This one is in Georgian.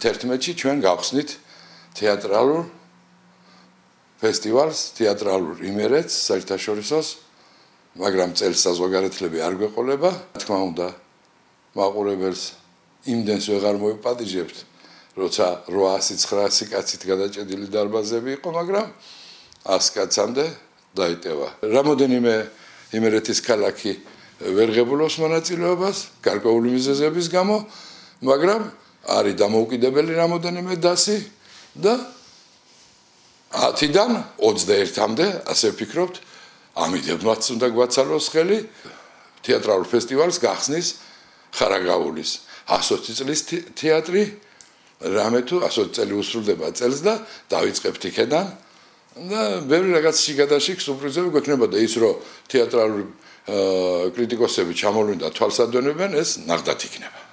11-ში ჩვენ გავხსნით თეატრალურ ფესტივალს, თეატრალურ იმერეთს საერთაშორისოს, მაგრამ წელს საზოგადოებრივი არ გვეყოლება. თქმა უნდა, მაყურებელს იმდენს ვეღარ მოიპატიჟებთ, როცა 800-900 კაცით გადაჭედილი დარბაზები იყო, მაგრამ 100 კაცამდე დაიტევა. რამოდენიმე იმერეთის ქალაქი ვერ ღებულობს მონაწილეობას გარკვეული მიზეზების გამო, მაგრამ არის დამოუკიდებელი რამოდენიმე დასი და 10-დან 21-მდე, ასე ვფიქრობთ, ამიდებმაც უნდა გვაცალოს ხელი თეატრალურ ფესტივალს გახსნის ხარაგაულის 120 წლის თეატრი, რამე თუ 120 წელი უსრულდება წელს და დავიწყებთ იქედან და ბევრი რაღაც შიგადაშიგ სურპრიზები გვექნება და ის რომ თეატრალური კრიტიკოსები ჩამოვლენ და თვალსადვენებენ, ეს ნახდათ იქნება.